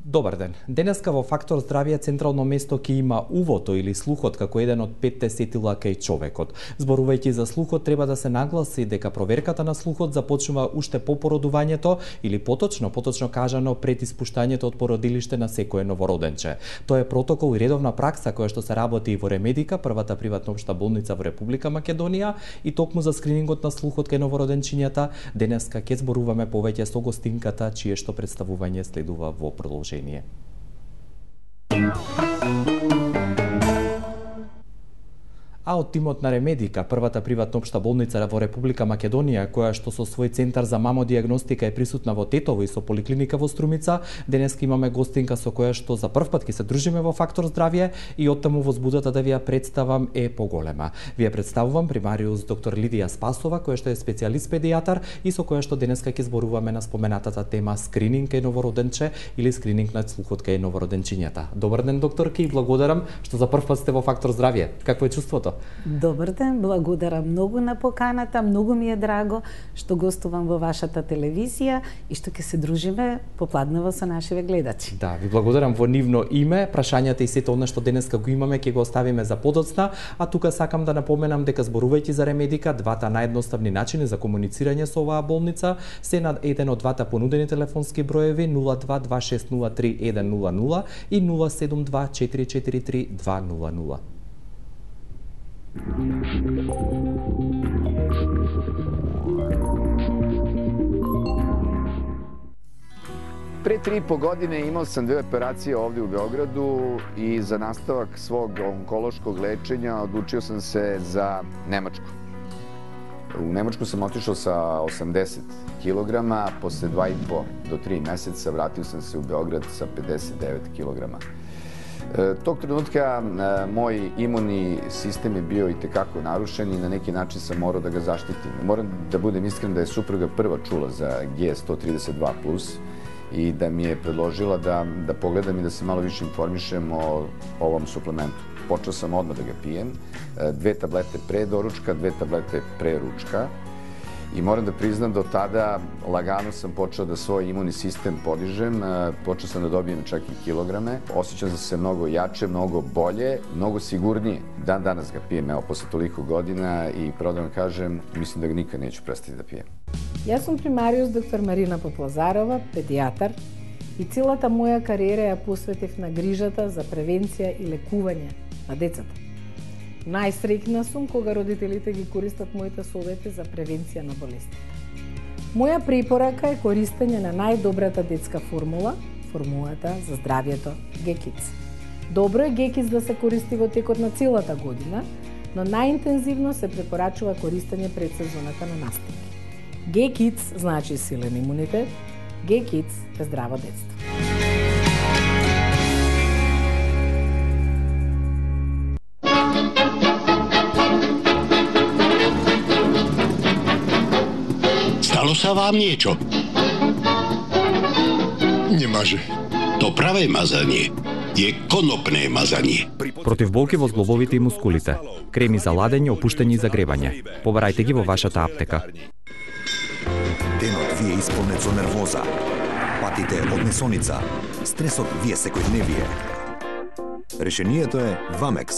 Добар ден. Денеска во Фактор здравје централно место ќе има увото или слухот како еден од 5 сетила кај човекот. Зборувајќи за слухот, треба да се нагласи дека проверката на слухот започнува уште по породувањето или поточно кажано пред испуштањето од породилиште на секое новороденче. Тоа е протокол и редовна пракса која што се работи и во Ремедика, првата приватна општа болница во Република Македонија, и токму за скринингот на слухот кај новороденчињата денеска ќе зборуваме повеќе со гостинката, чие што представување следува во продолжение. А од тимот на Ремедика, првата приватна општа болница во Република Македонија, која што со свој центар за мамодиагностика е присутна во Тетово и со поликлиника во Струмица, денеска имаме гостинка со која што за прв пат ќе се дружиме во Фактор здравје и оттаму возбудата да ви ја представам е поголема. Ви ја представувам примариус доктор Лидија Спасова, која што е специјалист педијатар и со која што денеска ќе зборуваме на споменатата тема скрининг кај новороденче или скрининг на слухот кај новороденчињата. Добар ден, докторки, и благодарам што за прв пат сте во Фактор здравје. Какво е чувството? Добар ден, благодарам многу на поканата, многу ми е драго што гостувам во вашата телевизија и што ќе се дружиме попладнево со нашиве гледачи. Да, ви благодарам во нивно име. Прашањата и сето она што денеска го имаме ќе го оставиме за подоцна, а тука сакам да напоменам дека зборувајќи за Ремедика, двата наједноставни начини за комуницирање со оваа болница се на еден од двата понудени телефонски броеви 0226031000 и 072443200. Pre 3,5 godine imao sam 2 operacije ovdje u Beogradu i za nastavak svog onkološkog lečenja odlučio sam se za Nemačku. U Nemačku sam otišao sa 80 kg, posle 2,5 do 3 meseca vratio sam se u Beograd sa 59 kg. Tog trenutka moj imunni sistem je bio itekako narušen i na neki način sam morao da ga zaštitim. Moram da budem iskren da je supruga prva čula za G132+, i da mi je predložila da pogledam i da se malo više informišem o ovom suplementu. Počeo sam odmah da ga pijem, 2 tablete pre doručka, 2 tablete pre ručka, i moram da priznam da od tada lagano sam počeo da svoj imunni sistem podižem, počeo sam da dobijem čak i kilograme, osjećam se mnogo jače, mnogo bolje, mnogo sigurnije. Dan danas ga pijem, evo, posle toliko godina, i pravo da vam kažem, mislim da ga nikad neću prestati da pijem. Јас сум примариус доктор Марина Поплазарова, педијатар, и целата моја кариера ја посветив на грижата за превенција и лекување на децата. Најсреќна сум кога родителите ги користат моите совети за превенција на болести. Моја препорака е користење на најдобрата детска формулата за здравјето G-Kids. Добро е G-Kids да се користи во текот на целата година, но најинтензивно се препорачува користење пред сезоната на настапи. G-Kids значи силен имунитет, G-Kids е здраво детство. Stalo sa vám niečo? Немаже. To pravé mazanie je konopné mazanie. Против болки во зглобовите и мускулите, креми за ладење, опуштање и загревање. Побарајте ги во вашата аптека. Денот ви е исполнет со нервоза, патите од несоница, стресот ви е секојдневие. Решението е Вамекс,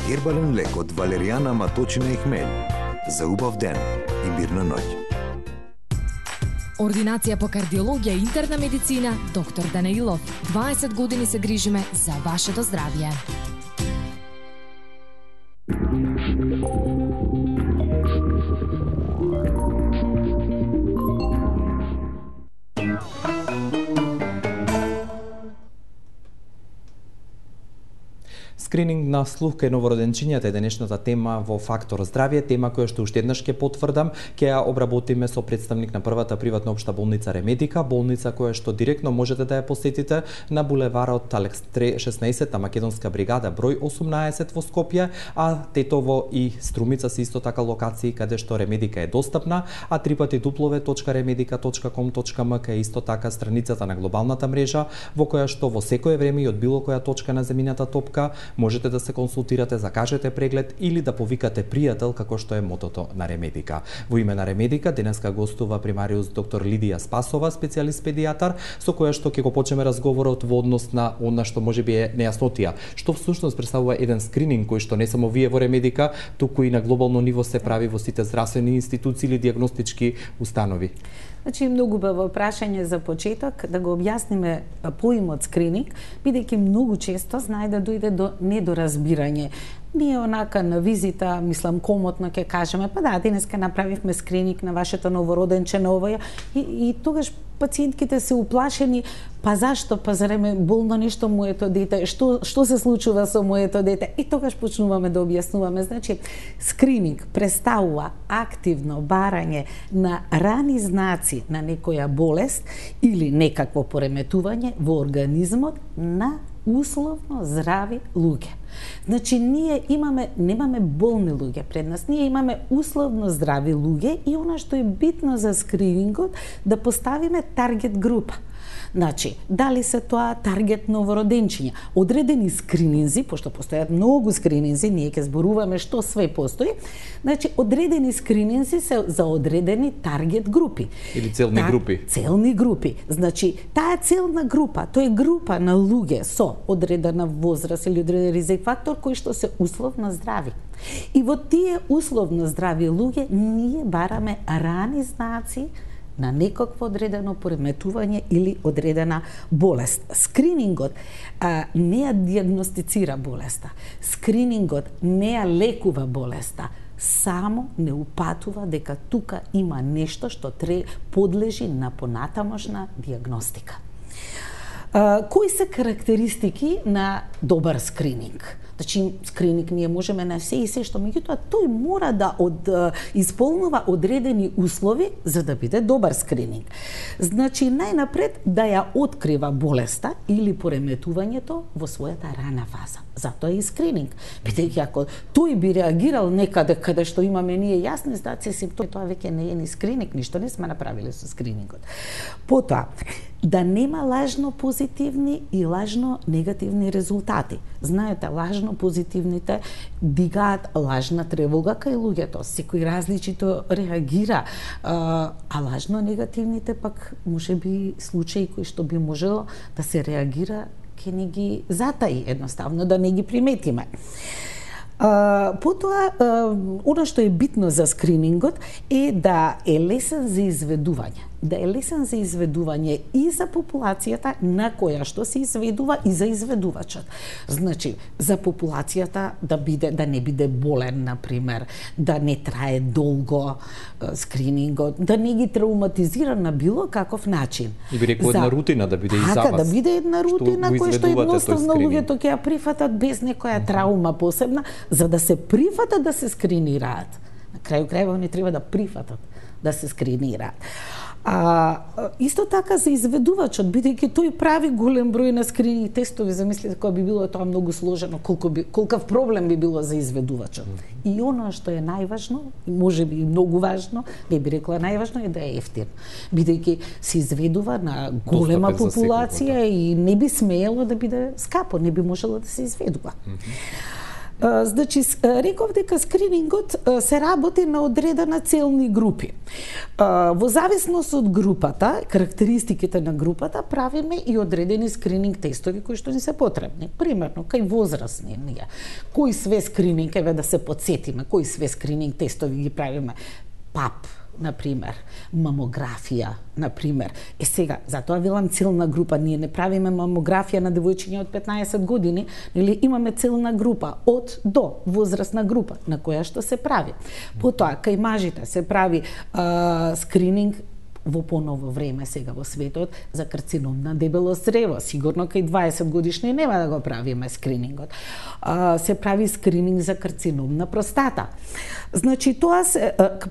гербален лек од валеријана, маточина и хмелј, за убав ден и мирна ноќ. Ординација по кардиологија и интерна медицина, доктор Данаилов. 20 години се грижиме за вашето здравје. Скрининг на слух кај новороденчињата е денешната тема во Фактор здравје, тема која што уште еднаш ќе потврдам, ќе ја обработиме со представник на првата приватна општа болница Ремедика, болница која што директно можете да ја посетите на булеварот Алекс 16 Македонска бригада број 18 во Скопје, а Тетово и Струмица се исто така локации каде што Ремедика е достапна, а www.remedica.com.mk е исто така страницата на глобалната мрежа во која што во секое време и од било која точка на земјината топка можете да се консултирате, закажете преглед или да повикате пријател, како што е мотото на Ремедика. Во име на Ремедика денеска гостува примариус доктор Лидија Спасова, специјалист педијатар, со која што ќе го почнеме разговорот во однос на она што можеби е нејаснотија. Што всушност представува еден скрининг кој што не само вие во Ремедика, туку и на глобално ниво се прави во сите здравствени институции или диагностички установи? Значи, многу убаво прашање за почеток, да го објасниме поимот скрининг, бидејќи многу често знае да дојде до недоразбирање. Ние онака на визита, мислам, комотно ќе кажеме, па да, денеска направивме скрининг на вашето новороденче на овоја, и тогаш пациентките се уплашени, па зашто, па зареме болно нешто моето дете, што се случува со моето дете? И тогаш почнуваме да објаснуваме. Значи, скрининг представува активно барање на рани знаци на некоја болест или некакво пореметување во организмот на условно здрави луѓе. Значи, ние немаме болни луѓе пред нас, ние имаме условно здрави луѓе и она што е битно за скринингот, да поставиме таргет група. Значи, дали се тоа таргет новороденчиња, одредени скрининзи, пошто постојат многу скрининзи, ние ќе зборуваме што све постои, значи, одредени скрининзи се за одредени таргет групи. Или целни групи. Целни групи. Значи, таа целна група, тоа е група на луѓе со одредена возраст или одреден ризик фактор кои што се условно здрави. И во тие условно здрави луѓе ние бараме рани знаци на некакво одредено пореметување или одредена болест. Скринингот не ја диагностицира болеста. Скринингот не ја лекува болеста. Само не упатува дека тука има нешто што подлежи на понатамошна диагностика. Кои се карактеристики на добар скрининг? Значи, скрининг ние можеме на се и се што, меѓутоа тој мора да исполнува одредени услови за да биде добар скрининг. Значи, најнапред да ја открива болеста или пореметувањето во својата рана фаза. Затоа е и скрининг. Бидејќи ако тој би реагирал некаде каде што имаме ние јасни знаци симптоми, тоа веќе не е ни скрининг, ништо не сме направиле со скринингот. Потоа, да нема лажно позитивни и лажно негативни резултати. Знаете, лажно позитивните дигаат лажна тревога кај луѓето, секој различито реагира, а лажно негативните пак можеби случаи кои што би можело да се реагира ќе не ги затаи, едноставно да не ги приметиме. Потоа, она што е битно за скринингот е да е лесен за изведување. Да е лесен за изведување и за популацијата на која што се изведува и за изведувачот. Значи, за популацијата да не биде болен, например, да не трае долго скринингот, да не ги травматизира на било каков начин. И би рекол една рутина да биде и за вас. Да биде една рутина која што едноставно луѓето ќе ја прифатат без некоја траума посебна, за да се прифатат да се скринираат. На крају крајва не треба да прифатат да се скринираат. Исто така за изведувачот, бидејќи тој прави голем број на скрининг тестови, замислите кога би било тоа многу сложено, колкав проблем би било за изведувачот. И оно што е најважно, и можеби и многу важно, не би рекла најважно, е да е ефтин. Бидејќи се изведува на голема популација и не би смеело да биде скапо, не би можело да се изведува. Значи, реков дека скринингот се работи на одредена целни групи. Во зависност од групата, карактеристиките на групата, правиме и одредени скрининг тестови кои што ни се потребни. Примерно, кај возрастни ние. Кои све скрининг, еве да се подсетиме, кои све скрининг тестови ги правиме? ПАП, например, мамографија, например. Сега, затоа велам целна група, ние не правиме мамографија на девојчиња од 15 години, или имаме целна група од до возрастна група на која што се прави. Потоа, кај мажите се прави скрининг во поново време сега во светот за карцином на дебело црево. Сигурно кај 20 годишни нема да го правиме скринингот. Се прави скрининг за карцином на простата. Значи,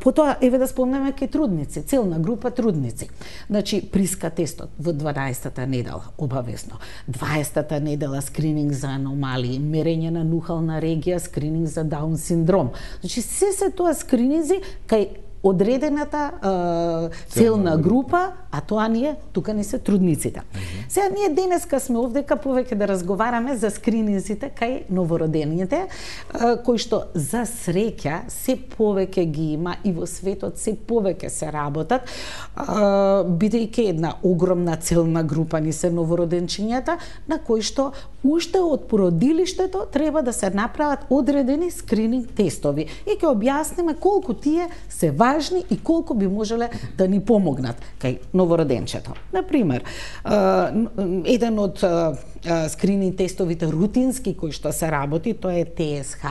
потоа, еве да спомнеме кај трудници, целна група трудници. Значи, приска тестот во 12-та недела, обавезно. 20-та недела скрининг за аномалии, мерење на нухална регија, скрининг за Даун синдром. Значи, се тоа скрининзи кај одредената целна група, а тоа тука не се трудниците. Сега ние денеска сме овдека повеќе да разговараме за скрининзите кај новородените, кои што за среќа се повеќе ги има и во светот се повеќе се работат, бидејќи една огромна целна група ни се новороденчињата, на кои што уште од породилиштето треба да се направат одредени скрининг тестови и ќе објасниме колку тие се важни и колку би можеле да ни помогнат кај новороденчето. Например, еден од скрининг тестовите рутински кои што се работи, тоа е ТСХ,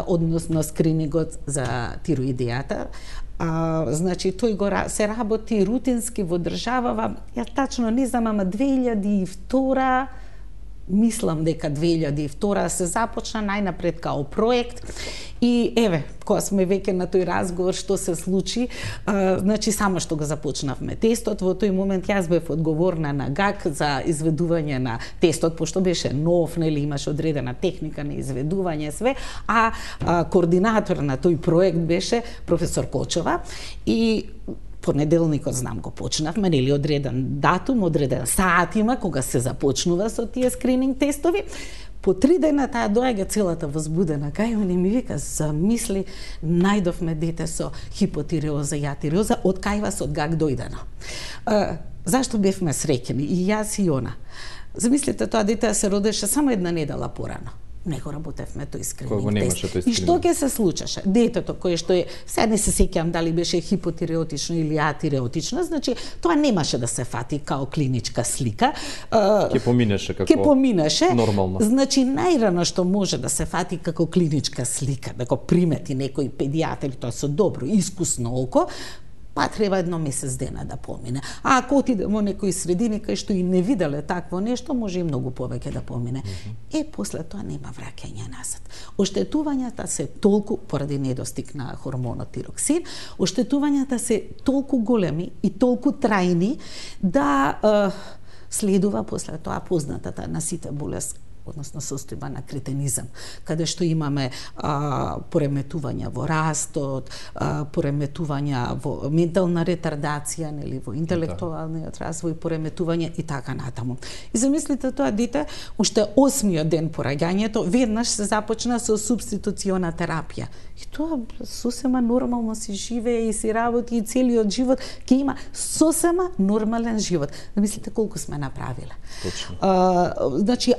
односно скринингот за тироидијата. Значи, тој се работи рутински во државава, ја тачно не знам, ама 2002 мислам дека 2002 се започна најнапред као проект и еве, кога сме веќе на тој разговор што се случи, значи само што го започнавме тестот, во тој момент јас бев одговорна на ГАК за изведување на тестот, пошто беше нов, нели имаше одредена техника на изведување све, а координатор на тој проект беше професор Кочова и понеделникот, знам, го почнавме, нели одреден датум, одреден саат има кога се започнува со тие скрининг тестови. По 3 дена таа доаѓа целата возбудена кај мене, ми вика, замисли, најдовме дете со хипотиреоза и атиреоза, од кај вас од ГАК дојдено. Зашто бевме среќени, и јас и она? Замислите, тоа дете се родеше само една недела порано. Не го работевме тој скрининг тест. И што ќе се случеше? Детето кое што е, сега не се сеќавам дали беше хипотиреотично или атиреотично, значи тоа немаше да се фати као клиничка слика. Ќе поминеше како нормално. Значи најрано што може да се фати како клиничка слика, да го примети некој педијатар, тоа со добро, искусно око, па треба 1 месец дена да помине. А ако отиде во некои средини кај што и не виделе такво нешто, може и многу повеќе да помине. После тоа нема враќање назад. Оштетувањата се толку, поради недостиг на хормонот тироксин, оштетувањата се толку големи и толку трајни да следува после тоа познатата на сите болест, односно состојба на кретенизам, каде што имаме пореметувања во растот, пореметувања во ментална ретардација, нели, во интелектуалниот развој, пореметување и така натаму. И замислите, тоа дете, уште 8-миот ден по раѓањето, веднаш се започна со субституциона терапија. И тоа сосема нормално си живее и си работи и целиот живот ќе има сосема нормален живот. Замислите колку сме направиле. Точно. Значи,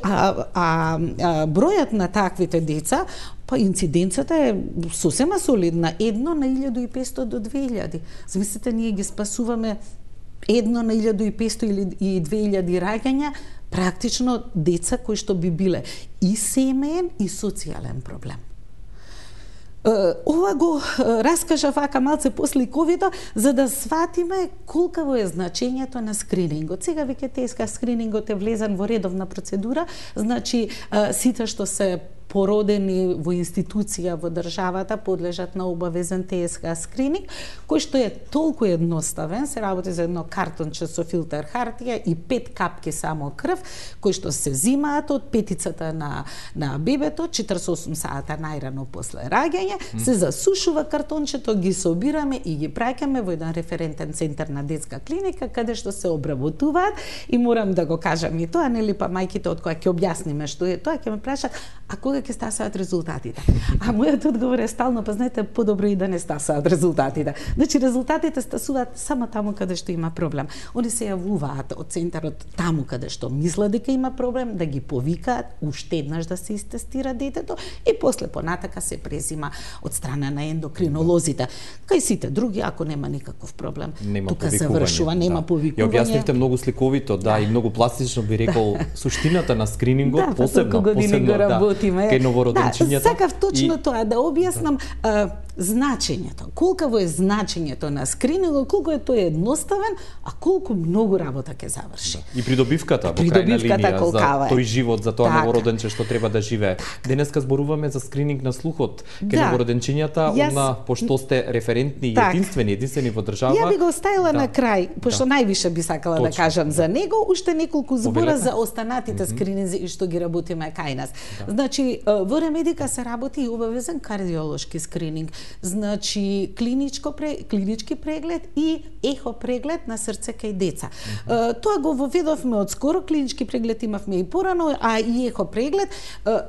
бројот на таквите деца, па инциденцата е сосема солидна, 1 на 1500 до 2000. Замислите, ние ги спасуваме 1 на 1500 или 2000 раѓања, практично деца кои што би биле и семеен и социјален проблем. Ова го раскажа вака малце после ковида, за да сватиме колкаво е значењето на скринингот. Сега веќе теска скринингот е влезен во редовна процедура, значи сите што се породени во институција во државата подлежат на обавезен ТСХ скрининг, кој што е толку едноставен, се работи за едно картонче со филтер хартија и 5 капки само крв, кои што се зимаат од петицата на бебето, 48 сата најрано после раѓање, се засушува картончето, ги собираме и ги праќаме во еден референтен центар на детска клиника, каде што се обработуваат, и морам да го кажам и тоа, нели, па мајките од која ќе објасниме што е тоа, ќе ме прашат, а кога ќе стасаат резултатите? А мојот одговор е стално, па знаете, подобро и да не стасаат резултатите. Значи, резултатите стасуваат само таму каде што има проблем. Они се јавуваат од центарот таму каде што мислат дека има проблем, да ги повикаат, уште еднаш да се истестира детето и после понатака се презима од страна на ендокринолозите. Кај сите други, ако нема никаков проблем, тука завршува, нема повикување. Ја објаснивте многу сликовито, и многу пластично би рекол суштината на скринингот, посебно кај новороденчињата. Сакав точно тоа да објаснам значењето. Колкаво е значењето на скринингот, колку е тој едноставен, а колку многу работа ќе заврши. И придобивката во крајна линија за тој живот, за тоа новороденче што треба да живее. Денеска зборуваме за скрининг на слухот кај новороденчињата, пошто сте референтни и единствени во држава. Ја би го оставила на крај, пошто највише би сакала да кажам за него, уште неколку збора за останатите скрининзи и што ги работиме кај нас. Значи, Значи, во Ремедика се работи и обавезен кардиолошки скрининг. Значи, клинички преглед и ехо преглед на срце кај деца. Тоа го воведовме од скоро, клинички преглед имавме и порано, а и ехо преглед,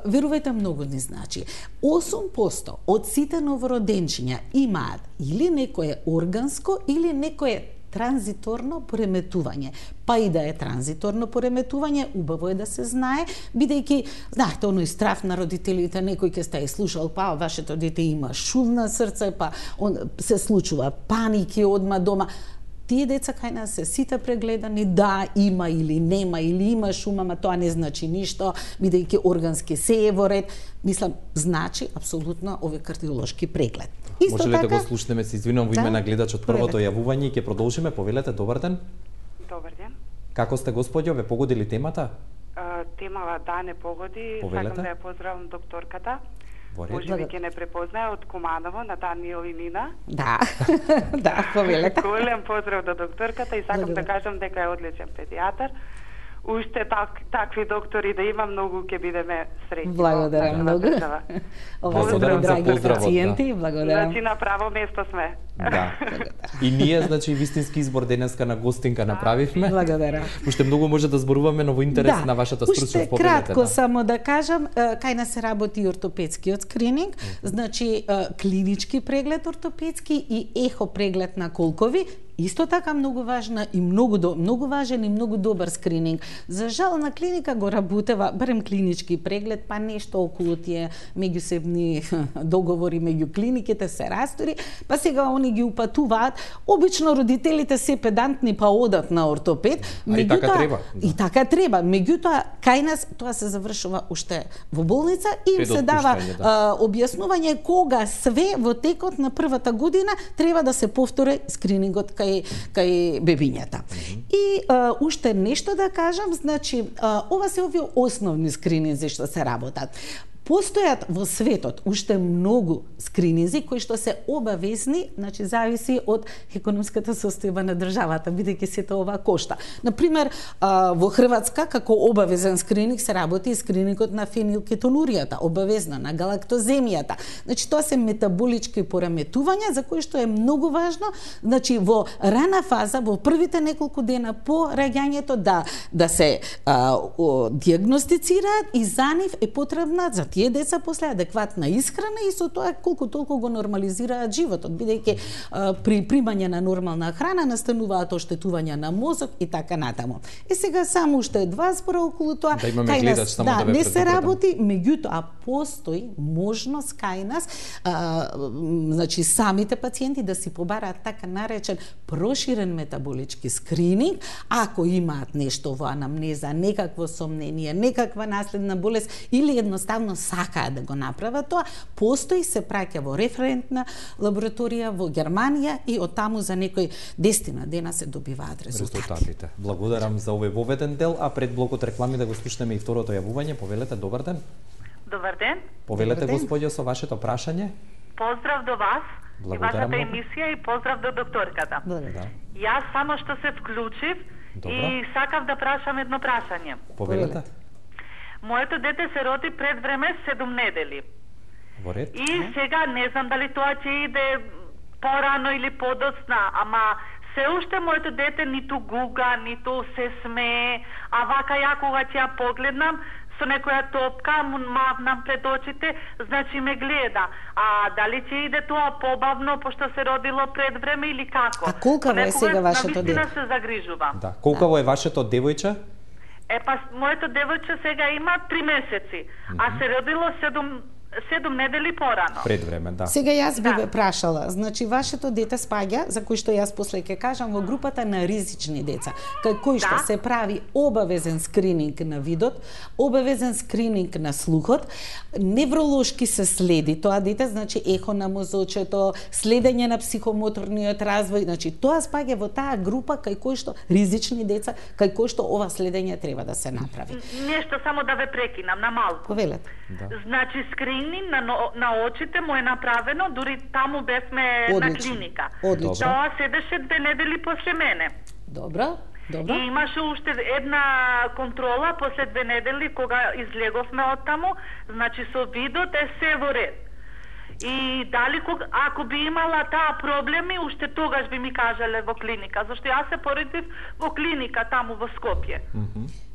верувајте, многу ни значи. 8% од сите новороденчиња имаат или некое органско или некое транзиторно пореметување. Па и да е транзиторно пореметување, убаво е да се знае, бидејќи, знаете, оној страф на родителите, некој ќе сте слушал, па вашето дете има шум на срце, па се случува паники одма дома. Тие деца кај нас се сите прегледани, да, има или нема, или има шум, ама тоа не значи ништо, бидејќи органски се е во ред. Мислам, значи апсолутно овој кардиолошки преглед. Може ли да го слушнеме, се извинувам во име на гледачот, првото јавување и ќе продолжиме. Повелете, добар ден. Добар ден. Како сте, господјо, ве погодили темата? Темава да не погоди. Повелете. Сакам да ја поздравам докторката. Може би ќе не препознае од Куманово на Даниел и Нина. Да, да, повелете. Голем поздрав до докторката и сакам да кажам дека е одличен педијатар. Уште такви доктори да има, многу ќе бидеме среќни. Благодарам многу. Благодарам за поздравот. Пациенти, благодарам. Значи на право место сме. Да. И ние, значи, вистински избор денеска на гостинка направивме. Благодарам. Уште многу може да зборуваме, но во интерес на вашата стручност. Уште кратко само да кажам, кај нас се работи и ортопедскиот скрининг, значи клинички преглед ортопедски и ехо преглед на колкови. Исто така многу важна и многу важен и многу добар скрининг. За жал на клиника го работева барем клинички преглед, па нешто околу тие меѓусебни договори меѓу клиниките се растори, па сега они ги упатуваат. Обично родителите се педантни па одат на ортопед, и така треба. И така треба. Меѓутоа кај нас тоа се завршува уште во болница и им се дава објаснување кога све во текот на првата година треба да се повтори скринингот кај бебињата. И уште нешто да кажам, значи, ова се овие основни скрининзи што се работат. Постојат во светот уште многу скрининзи кои што се обавезни, значи зависи од економската состојба на државата, бидејќи сето ова кошта. Например, во Хрватска како обавезен скрининг се работи и скринингот на фенилкетонуријата, обавезно на галактоземијата. Значи тоа се метаболички пореметувања за кои што е многу важно, значи во рана фаза, во првите неколку дена по раѓањето да се диагностицираат и за нив е потребна за тие деца после адекватна исхрана и со тоа колку толку го нормализираат животот, бидејќи при примање на нормална храна настануваат оштетувања на мозок и така натаму. И сега само уште два збора околу тоа. Да имаме гледач, само да ве не се работи, меѓутоа постои можност кај нас, значи самите пациенти да си побараат така наречен проширен метаболички скрининг, ако имаат нешто во анамнеза, некакво сомнение, некаква наследна болест или едноставно сакаат да го направат тоа, постои, се праќа во референтна лабораторија во Германија и од таму за некои 10 дена се добиваат резултатите. Благодарам за овој воведен дел, а пред блокот реклами да го слушнеме и второто јавување. Повелете, добар ден. Добар ден. Повелете, господјо, со вашето прашање. Поздрав до вас и вашата емисија и поздрав до докторката. Јас само што се вклучив и сакав да прашам едно прашање. Повелете. Моето дете се роди пред време 7 недели. Во ред. И сега не знам дали тоа ќе иде порано или подоцна, ама се уште моето дете ниту гуга, ниту се смее, а вака ја кога ќе ја погледнам, со некоја топка му мавнам пред очите, значи ме гледа. А дали ќе иде тоа побавно, пошто се родило пред време или како? А колкаво е сега вашето дете? Навистина се загрижувам. Да, колкаво е вашето девојче? Моето девојче сега има 3 месеци, а се родило 7 недели порано. Пред време, да. Сега јас би ве прашала, значи вашето дете спаѓа, за кој што јас после ќе кажам, во групата на ризични деца, кај кој што се прави обавезен скрининг на видот, обавезен скрининг на слухот, невролошки се следи тоа дете, значи ехо на мозочето, следење на психомоторниот развој, значи тоа спаѓа во таа група кај кој што ризични деца, кај кој што ова следење треба да се направи. Нешто само да ве прекинам на малку. Повелете. Да. Значи скрининг на очите му е направено, дури таму бевме на клиника. Одлично. Тоа седеше 2 недели после мене. Добро. Добро. И имаше уште една контрола после 2 недели кога излеговме од таму, значи со видот е се во ред. И дали ако би имала таа проблеми, уште тогаш би ми кажале во клиника, зашто јас се поредив во клиника таму во Скопје.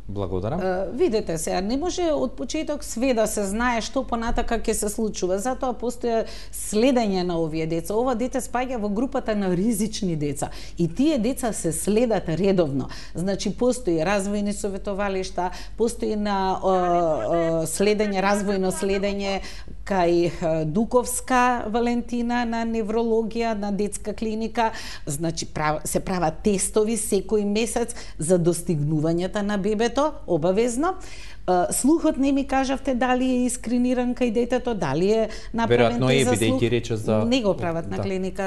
Благодарам. Видете се, не може од почеток све да се знае што понатака ќе се случува. Затоа постои следење на овие деца. Ова дете спаѓа во групата на ризични деца. И тие деца се следат редовно. Значи, постои развојни советовалишта, постои на следење, развојно следење кај Дуковска Валентина на неврологија, на детска клиника. Значи, се прават тестови секој месец за достигнувањата на бебето, обавезно. Слухот не ми кажавте дали е искрениран кај детето, дали е направен тест за слух. Бидејќи рече за... Не го прават на клиника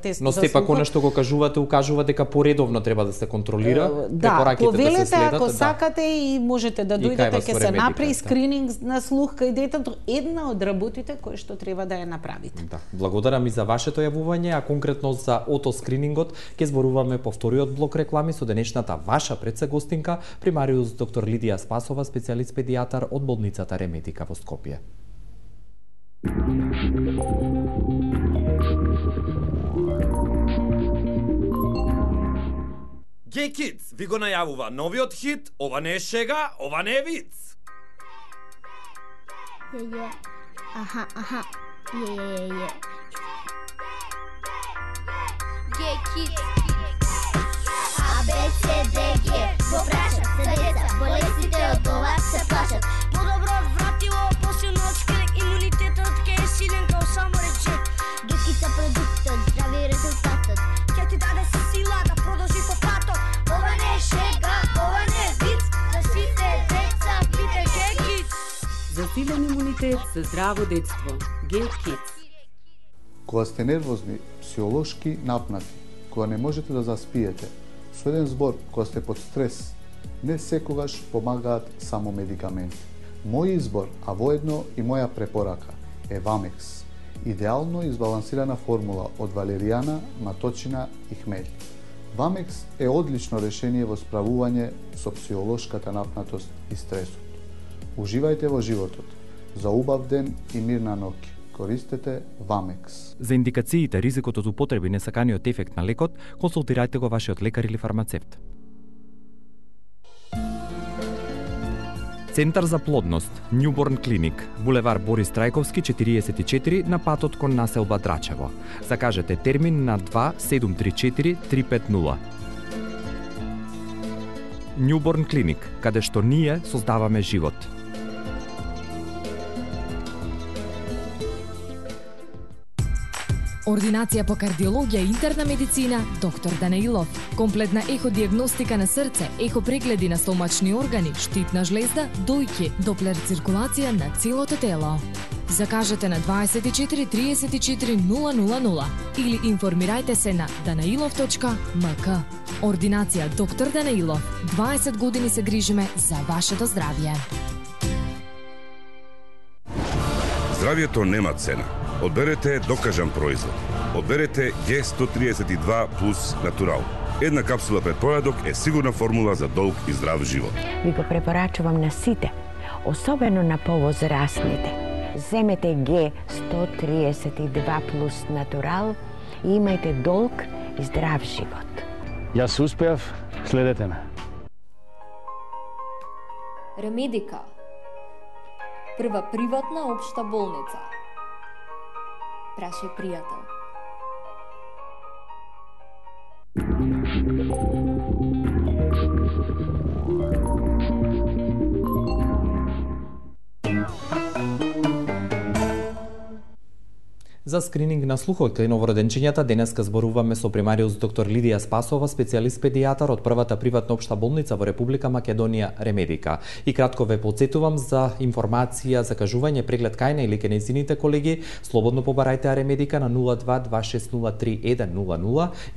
тест за слух. Но сепак она што го кажувате, укажува дека поредовно треба да се контролира, да, повелете да се следат, ако сакате и можете да дојдете, ќе се направи скрининг на слух кај детето, една од работите кои што треба да ја направите. Да, благодарам и за вашето јавување, а конкретно за отоскринингот ќе зборуваме по вториот блок реклами со денешната ваша предсегостинка, примариус доктор Лидија Спасова, специјалист педијатар од болницата Ремедика во Скопје. Gay Kids ви го најавува новиот хит, ова не е шега, ова не е виц. Аха. Gay Kids. ABCDG, во прашат се деца, болестите од глава се плашат. Подобро вратило, посилно од шкрек, имунитетот ке е силен као само речет. Гекица продуктот, здрави резултатот, ќе ти даде сила да продолжи по патот. Ова не е шега, ова не е виц, за сите деца пите Gay Kids. За силен имунитет, за здраво детство, Gay Kids. Кога сте нервозни, психолошки напнати, кога не можете да заспиете, со еден збор, кога сте под стрес, не секогаш помагаат само медикаменти. Мој избор, а воедно и моја препорака, е Вамекс. Идеално избалансирана формула од валеријана, маточина и хмелј. Вамекс е одлично решение во справување со психолошката напнатост и стресот. Уживајте во животот. За убав ден и мирна ноќ. Користете Вамекс. За индикациите, ризикот од употреби, несаканиот ефект на лекот, консултирајте го вашиот лекар или фармацевт. Центар за плодност, Newborn Clinic, булевар Борис Трајковски 44 на патот кон населба Драчево. Закажете термин на 2734 350. Newborn Clinic, каде што ние создаваме живот. Ординација по кардиологија и интерна медицина, доктор Данаилов. Комплетна еходиагностика на срце, ехопрегледи на стомачни органи, штитна жлезда, дојки, доплер циркулација на целото тело. Закажете на 24 34 000 или информирајте се на danailov.mk. Ординација доктор Данаилов. 20 години се грижиме за вашето здравје. Здравјето нема цена. Одберете докажан производ. Одберете G132 плюс натурал. Една капсула пред појадок е сигурна формула за долг и здрав живот. Ви го препорачувам на сите, особено на повозрастните. Земете G132 плюс натурал и имајте долг и здрав живот. Јас успеав, следете ме. Ремедика. Прва приватна општа болница. Прашај пријател. За скрининг на слухот кај новороденчињата денеска зборуваме со примариус доктор Лидија Спасова, специјалист педијатар од првата приватна општа болница во Република Македонија Ремедика. И кратко ве потсетувам за информација, закажување, преглед кај или кај нејзините колеги, слободно побарајте Ремедика на 022603 и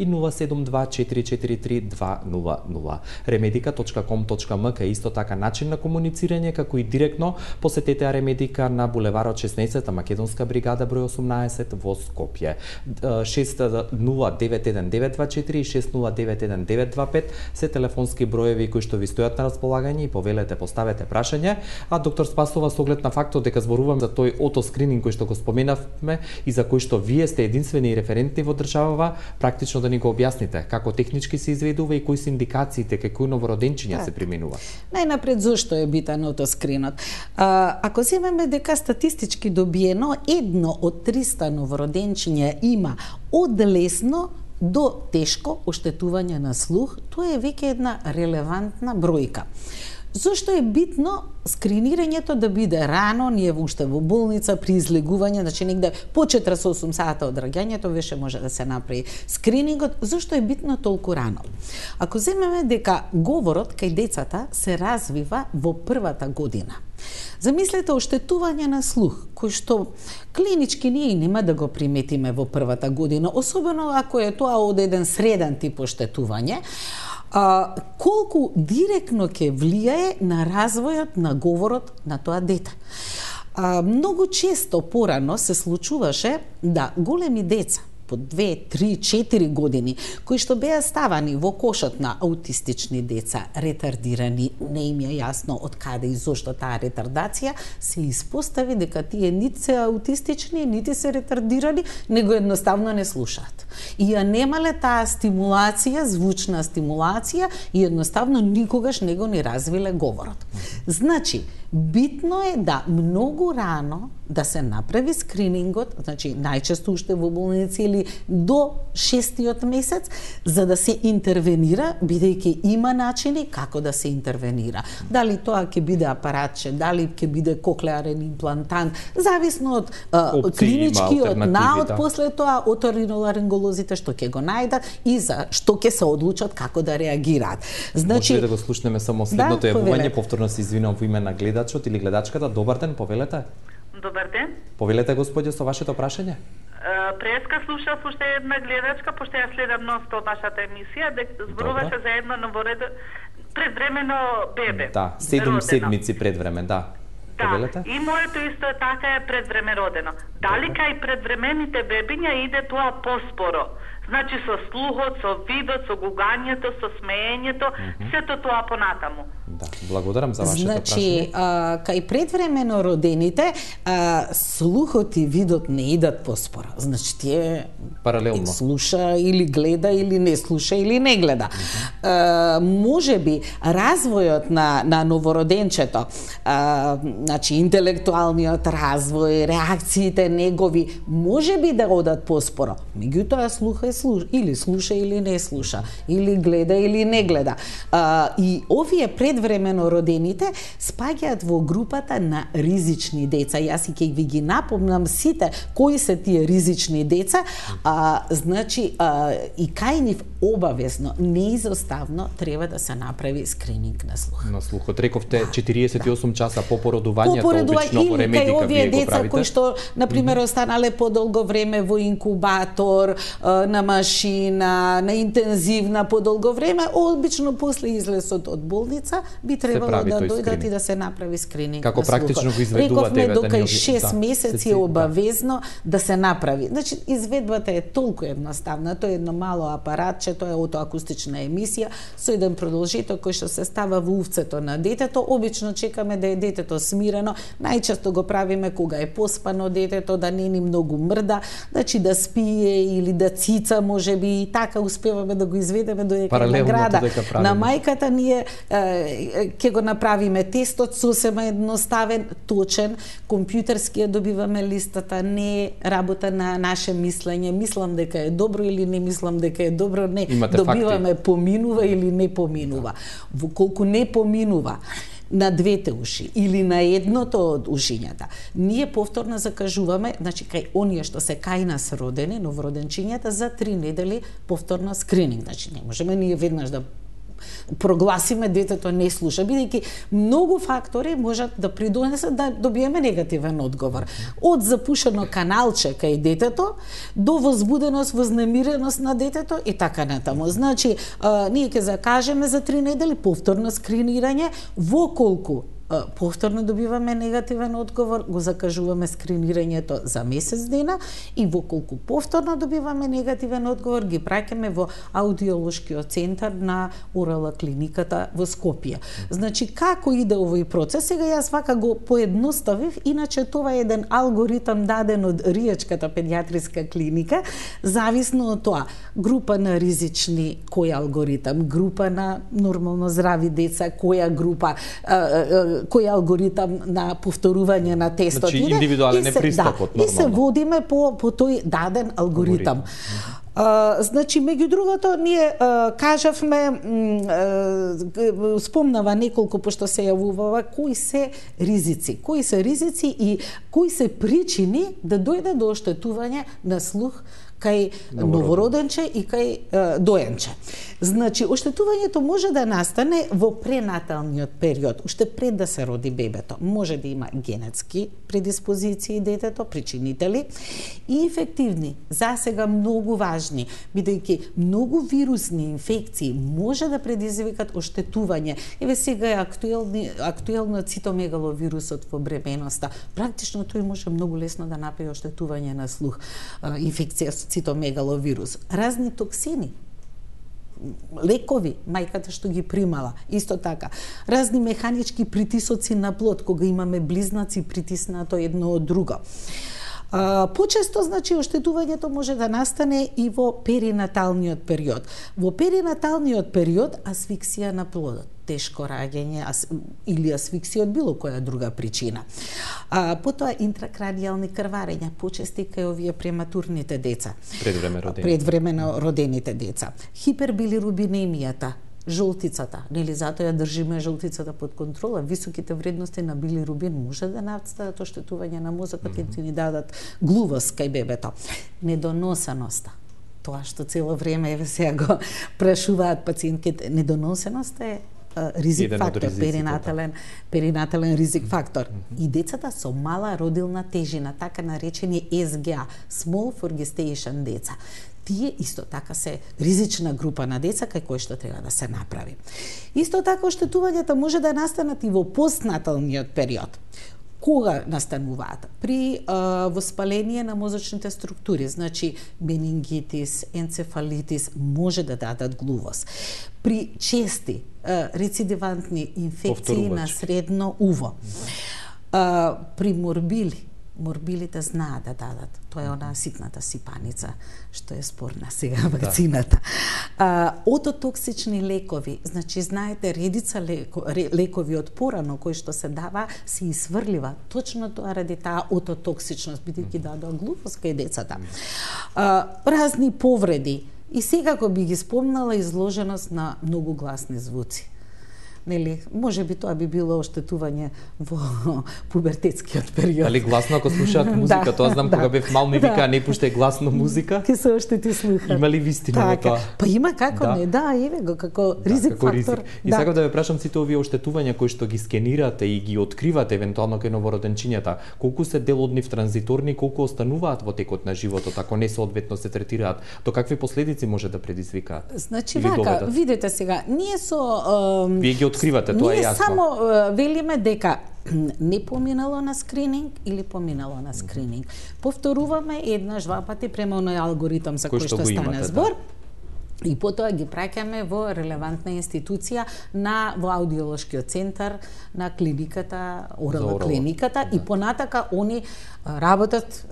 072443200. remedica.com.mk е исто така начин на комуницирање, како и директно посетете Ремедика на булеварот 16, Македонска бригада број 18 12 во Скопје. 6091-924 и 6091-925 се телефонски броеви кои што ви стојат на располагање и повелете, поставете прашање. А доктор Спасова, со оглед на фактот дека зборувам за тој отоскрининг кој што го споменавме и за кој што вие сте единствени и референтни во државава, практично да ни го објасните како технички се изведува и кои се индикациите кај кои новороденчиња се применува. Најнапред зошто е битен отоскринот? Ако земеме дека статистички добиено 1 од 300 новороденчиња има од лесно до тешко оштетување на слух, тоа е веќе една релевантна бројка. Зошто е битно скринирањето да биде рано, ние уште во болница при излегување, значи негде по 48 сата од раѓањето веше може да се направи скринингот. Зошто е битно толку рано? Ако земеме дека говорот кај децата се развива во првата година. Замислете оштетување на слух, кој што клинички ние нема да го приметиме во првата година, особено ако е тоа од еден среден тип оштетување, колку директно ќе влијае на развојот на говорот на тоа дете. Многу често порано се случуваше да големи деца по 2, 3, 4 години, кои што беа ставани во кошот на аутистични деца, ретардирани, не им е јасно од каде и зошто таа ретардација, се испостави дека тие нити се аутистични, нити се ретардирани, него едноставно не слушаат. И ја немале таа стимулација, звучна стимулација и едноставно никогаш не го ни развиле говорот. Значи, битно е да многу рано да се направи скринингот, значи најчесто уште во болници или до 6-тиот месец, за да се интервенира, бидејќи има начини како да се интервенира. Дали тоа ќе биде апаратче, дали ќе биде коклеарен имплантант, зависно од клиничкиот наод, после тоа оториноларинголозите што ќе го најдат и за што ќе се одлучат како да реагираат. Значи, може да го слушнеме само следното јавување, повторно се извинувам во име на гледачот или гледачката. Добар ден, повелете. Добар ден. Повелете, господје, со вашето прашање. Преска слушав уште една гледачка, пошто ја следам нон-стоп вашата емисија, дека зборуваше за едно предвремено бебе. Да, 7 седмици предвреме, да. Да, и моето исто така е предвреме родено. Дали кај предвремените бебиња иде тоа поспоро? Значи со слухот, со видот, со гугањето, со смеењето, сето тоа понатаму. Да, благодарам за вашето прашање. Значи, кај предвремено родените, слухот и видот не идат поспоро. Значи, тие паралелно слуша или гледа или не слуша или не гледа. Може би развојот на новороденчето, значи интелектуалниот развој, реакциите негови може би да одат поспоро. Меѓутоа слуха или слуша или не слуша, или гледа или не гледа. И овие предвремено родените спаѓаат во групата на ризични деца. Јас и ќе ви ги напомнам сите кои се тие ризични деца. Значи и кај нив обавезно, неизоставно треба да се направи скрининг на слух. На слухот рековте 48 часа по породувањето, обично во ремедика вие го правите. Овие деца кои што на пример останале подолго време во инкубатор, на машина, на интензивна подолго време, обично после излезот од болница би требало да дојдат и да се направи скрининг. Како практично го изведувате? Рековме дока 6 месеци е обавезно да се направи. Значи изведбата е толку едноставна, тоа е едно мало апаратче, тоа е отоакустична емисија со еден продолжител кој што се става во увцето на детето. Обично чекаме да е детето смирено, најчесто го правиме кога е поспано детето, да не ни многу мрда, значи да спие или да цица, може би и така успеваме да го изведеме додека е на града. На мајката ние ќе го направиме тестот сосема едноставен, точен, компјутерски ја добиваме листата, не е работа на наше мислење, мислам дека е добро или не мислам дека е добро, не. Имате добиваме факти. Поминува или не поминува. Во колку не поминува на двете уши или на едното од ушињата, ние повторно закажуваме, значи кај оние што се кај нас родени, новороденчињата, за 3 недели повторно скрининг. Значи не можеме ние веднаш да прогласиме детето не слуша, бидејќи многу фактори можат да придонесат да добиеме негативен одговор. Од запушено каналче кај детето до возбуденост, вознемиреност на детето и така натаму. Значи, ние ќе закажеме за 3 недели повторно скринирање во колку повторно добиваме негативен одговор, го закажуваме скринирањето за месец дена и во колку повторно добиваме негативен одговор, ги праќаме во аудиолошкиот центар на ОРЛ клиниката во Скопје. Значи, како иде овој процес? Сега јас вака го поедноставив, иначе това е еден алгоритам даден од Риечката педиатриска клиника, зависно од тоа, група на ризични, кој алгоритам, група на нормално здрави деца, која група, кој алгоритам на повторување на тестот. Значи, индивидуален е пристапот, нормално. И се водиме по тој даден алгоритам. Значи, меѓу другото, ние кажавме, спомнава неколку, пошто се јавувава, кои се ризици и кои се причини да дојде до оштетување на слух кај новороденче и кај доенче. Значи, оштетувањето може да настане во пренаталниот период, уште пред да се роди бебето. Може да има генетски предиспозиции детето, причинители, и инфективни, засега многу важни, бидејќи многу вирусни инфекции може да предизвикат оштетување. Еве сега е актуелно цитомегаловирусот во бременоста. Практично тој може многу лесно да направи оштетување на слух, инфекција со цитомегаловирус. Разни токсини, лекови, мајката што ги примала, исто така. Разни механички притисоци на плод, кога имаме близнаци притиснато едно од друго. Почесто, значи, оштетувањето може да настане и во перинаталниот период. Во перинаталниот период асфиксија на плодот, тешко раѓање или асфиксија од било која друга причина. Потоа интракранијални крварења, почести кај овие прематурните деца. Предвремено родените деца. Хипербилирубинемијата, жолтицата, нели затоа ја држиме жолтицата под контрола, високите вредности на билирубин може да настават оштетување на мозокот и ни дадат глувост кај бебето. Недоносеноста, тоа што цело време еве сега го прашуваат пациентките, недоносеноста е ризик фактор, перинатален ризик фактор. И децата со мала родилна тежина, така наречени СГА, Small for Gestation деца. Тие исто така се ризична група на деца кај кои што треба да се направи. Исто така оштетувањата може да настанат и во постнаталниот период. Кога настануваат? При воспаление на мозочните структури, значи менингитис, енцефалитис може да дадат глувост. При чести рецидивантни инфекции на средно уво. При морбилите знаат да дадат. Тоа е она ситната сипаница што е спорна сега вакцината. Ототоксични лекови, значи знаете редица лекови од порано кои што се дава се исврлива точно тоа ради таа ототоксичност, бидејќи дадоа глувост кај децата. Разни повреди и секако би ги спомнала изложеност на многу гласни звуци. Нели, може би тоа би било оштетување во пубертетскиот период. Дали гласно ако слушаат музика, тоа знам кога бев мал ми вика не пуштай гласно музика. Ке се оштети слухот. Има ли вистина во тоа? Па има како не, еве го како ризик фактор. И сакам да ве прашам сите овие оштетувања кои што ги скенирате и ги откривате евентуално кај новороденчињата, колку се дел од нив транзиторни, колку остануваат во текот на животот, ако не соодветно се третираат, до какви последици може да предизвикаат? Значи вака, видете сега, ние со вие ги откривате, тоа е јасно. Ние само велиме дека не поминало на скрининг или поминало на скрининг. Повторуваме еднаш, два пати према оној алгоритам за кој што стана збор. И потоа ги праќаме во релевантна институција во аудиолошкиот центар на клиниката, ОРЛ клиниката, и понатака они работат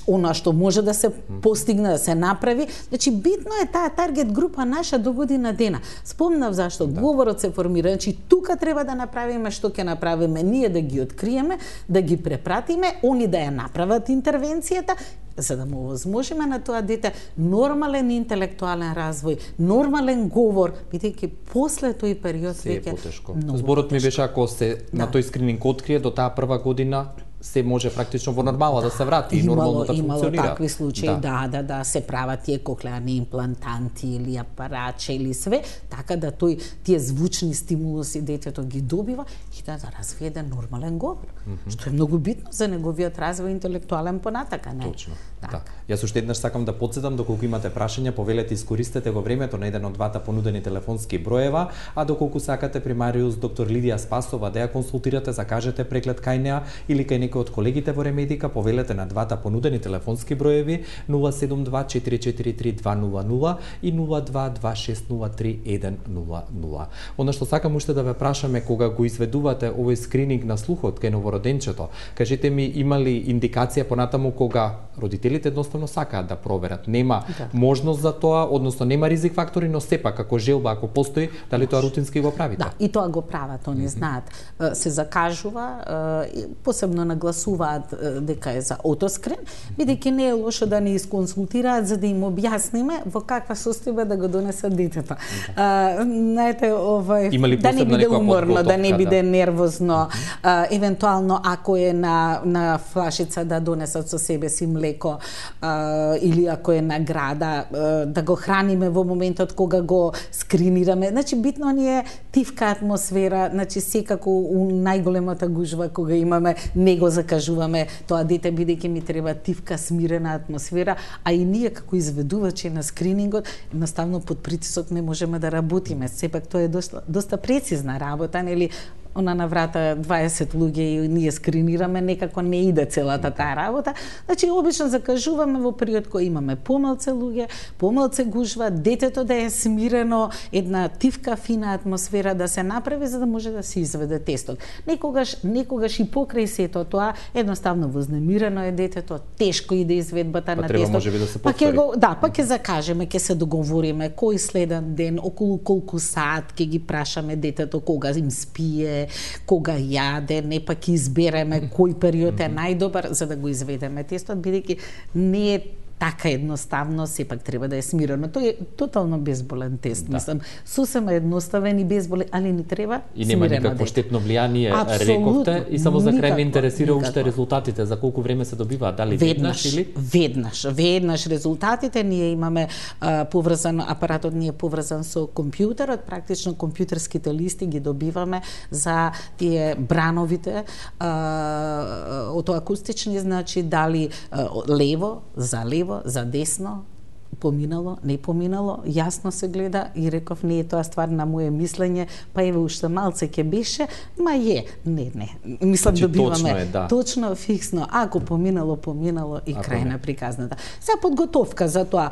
она што може да се постигне, да се направи. Значи битно е таа таргет група наша до година дена. Спомнав зашто говорот се формира, значи тука треба да направиме што ќе направиме, ние да ги откриеме, да ги препратиме, они да ја направат интервенцијата, за да му овозможиме на тоа дете нормален интелектуален развој, нормален говор, бидејќи после тој период веќе многу потешко. Зборот ми беше ако се на тој скрининг открие до таа прва година, се може практично во нормала да се врати и нормално да функционира. Имало такви случаи, да се прават тие коклеарни имплантанти или апаратче или све, така да тие звучни стимулуси детето ги добива и да развие еден нормален говор, што е многу битно за неговиот развој интелектуален понатака, не? Точно. Да. Јас уште еднаш сакам да потсетам, доколку имате прашања, повелете искористете го времето на еден од двата понудени телефонски броева, а доколку сакате примариус доктор Лидија Спасова да ја консултирате, закажете преглед кај неа или кај некој од колегите во Ремедика, повелете на двата понудени телефонски броеви 072-443-200 и 022-603-100. Она што сакам уште да ве прашаме, кога го изведувате овој скрининг на слухот кај новороденчето, кажете ми, има ли индикација понатаму кога родителите едноставно сакаат да проверат? Нема можност за тоа, односно нема ризик фактори, но сепак како желба, ако постои, дали тоа рутински го правите? Да, и тоа го прават, они знаат. Се закажува, посебно нагласуваат дека е за отоскрин, бидејќи не е лошо да не исконсултираат за да им објасниме во каква состојба да го донесат детето. Знаете, да не биде уморно, да не биде нервозно, евентуално ако е на флашица да донесат со себе си млеко, или ако е на града, да го храниме во моментот кога го скринираме. Значи, битно ни е тивка атмосфера, значи секако у најголемата гужва кога имаме, не го закажуваме тоа дете, бидејќи ми треба тивка, смирена атмосфера, а и ние како изведувачи на скринингот, едноставно под притисок не можеме да работиме. Сепак тоа е доста прецизна работа, нели? Она на врата 20 луѓе и ние скринираме, некако не иде целата таа работа. Значи, обично закажуваме во период кој имаме помалце луѓе, помалце гужва, детето да е смирено, една тивка, фина атмосфера да се направи за да може да се изведе тестот. Некогаш и покрај сето тоа, едноставно вознемирено е детето, тешко иде изведбата на тестот. Можеби да се повтори. Па ќе закажеме, ќе се договориме кој следен ден, околу колку саат ќе ги прашаме детето кога им спие, кога јаде, не пак избереме кој период е најдобар за да го изведеме тестот, бидејќи не е така едноставно, сепак треба да е смирено. Тој е тотално безболен тест, мислам, сосема едноставен и безболен, али ни треба и нема никакво штетно влијание, рековте, и само за крај ме интересира уште резултатите, за колку време се добиваат, дали веднаш или? Веднаш резултатите, ние имаме поврзан, апаратот ни е поврзан со компјутерот, практично компјутерските листи ги добиваме за тие брановите, отоакустични, значи дали лево, за десно, поминало, не поминало, јасно се гледа и реков не е тоа ствар на моје мислење, па еве уште малце ќе беше, ма е, не. Мислам добиваме точно, фиксно, ако поминало и крај на приказната. За подготовка за тоа,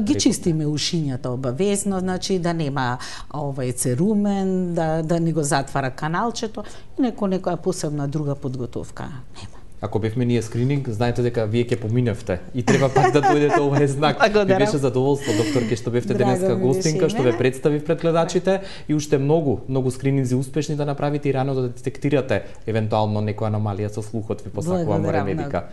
ги чистиме ушињата обавезно, значи да нема церумен, да не го затвара каналчето и некоја посебна друга подготовка нема. Ако бевме ние скрининг, знаете дека вие ќе поминевте и треба пак да дојдете овој знак. Ми беше задоволство, докторке, што бевте денеска гостинка, што ве представив пред гледачите и уште многу скрининзи успешни да направите и рано да детектирате евентуално некоја аномалија со слухот. Ви посакувам во Ремедика.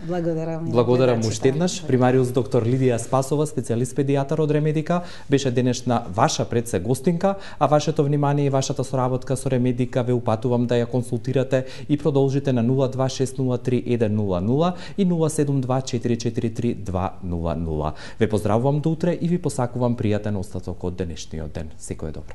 Благодарам уште еднаш. Примариус доктор Лидија Спасова, специјалист педијатар од Ремедика, беше денешна ваша предсе гостинка, а вашето внимание и вашата соработка со Ремедика ве упатувам да ја консултирате и продолжите на 02603 100 и 072-443-200. Ве поздравувам до утре и ви посакувам пријатен остаток од денешниот ден. Секој е добро.